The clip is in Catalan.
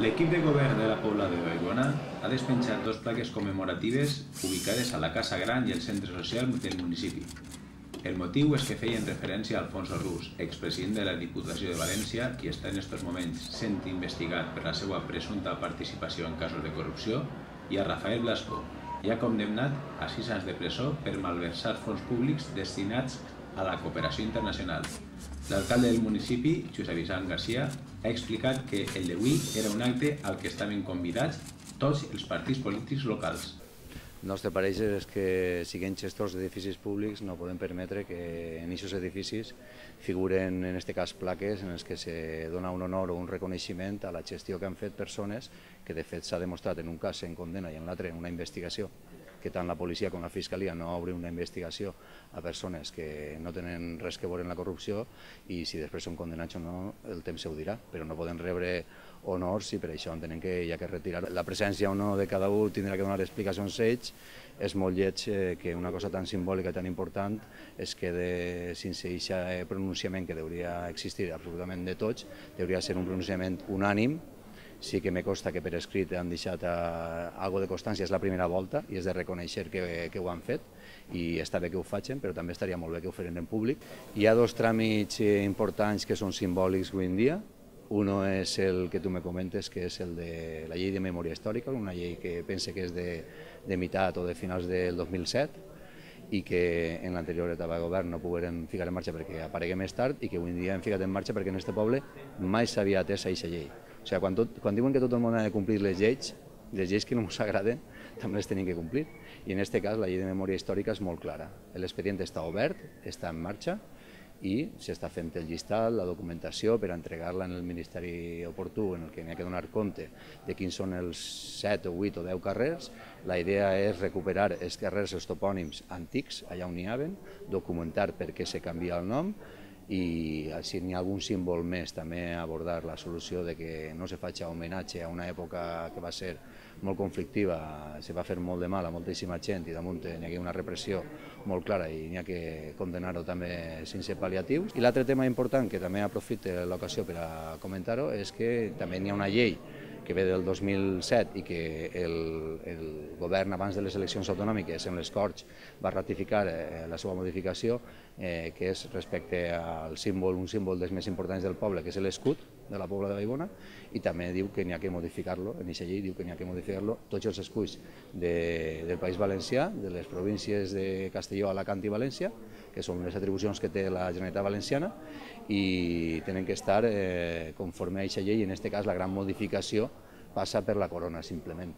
L'equip de govern de la Pobla de Vallbona ha despenjat dos plaques commemoratives ubicades a la Casa Gran i el centre social del municipi. El motiu és que feien referència a Alfonso Rus, expresident de la Diputació de València, qui està en aquests moments sent investigat per la seva presumpta participació en casos de corrupció, i a Rafael Blasco, ja condemnat a 6 anys de presó per malversar fons públics destinats a la cooperació internacional. L'alcalde del municipi, Josep Vicent Garcia, ha explicat que el d'avui era un acte al que estaven convidats tots els partits polítics locals. El nostre pareix és que, siguent gestors d'edificis públics, no podem permetre que en aquests edificis figuren, en aquest cas, plaques en les que se dona un honor o un reconeixement a la gestió que han fet persones que, de fet, s'ha demostrat en un cas en condemna i en l'altre en una investigació, que tant la policia com la fiscalia no obrin una investigació a persones que no tenen res que veure en la corrupció, i si després són condemnats o no, el temps ho dirà, però no poden rebre honors i per això entenem que hi ha que retirar. La presència o no de cada un tindrà que donar explicacions ells. És molt lleig que una cosa tan simbòlica i tan important es quede sense aquest pronunciament que hauria existir absolutament de tots, hauria de ser un pronunciament unànim. Sí que me consta que per escrit han deixat alguna de constància, és la primera volta i és de reconèixer que ho han fet i està bé que ho facin, però també estaria molt bé que ho feren en públic. Hi ha dos tràmits importants que són simbòlics avui en dia. Uno és el que tu me comentes, que és el de la llei de memòria històrica, una llei que pense que és de meitat o de finals del 2007, i que en l'anterior etapa de govern no pogueren ficar en marxa perquè aparegué més tard, i que avui en dia hem ficat en marxa perquè en aquest poble mai s'havia atès a aquesta llei. O sigui, quan diuen que tot el món ha de complir les lleis que no ens agraden també les tenim que complir. I en aquest cas la llei de memòria històrica és molt clara. L'expedient està obert, està en marxa, i s'està fent el llistat, la documentació per entregar-la en el Ministeri oportú, en el que n'hi ha que donar compte de quins són els 7 o 8 o 10 carrers. La idea és recuperar els carrers, els topònims antics, allà on n'hi havien, documentar per què se canvia el nom, i si n'hi ha algun símbol més també abordar la solució de que no se faci homenatge a una època que va ser molt conflictiva, se va fer molt de mal a moltíssima gent i damunt n'hi ha una repressió molt clara i n'hi ha que condenar-ho també sense pal·liatius. I l'altre tema important que també aprofito l'ocasió per a comentar-ho és que també n'hi ha una llei que ve del 2007 i que el govern abans de les eleccions autonòmiques en les Corts va ratificar la seva modificació, que és respecte al símbol, un símbol dels més importants del poble, que és l'escut de la Pobla de Vallbona, i també diu que n'hi ha que modificar-lo, en aquesta llei diu que n'hi ha que modificar-lo tots els escuts del País Valencià, de les províncies de Castelló, Alacant i València, que són les atribucions que té la Generalitat Valenciana, i tenen que estar conforme a aquesta llei. En aquest cas la gran modificació passa per la corona, simplement.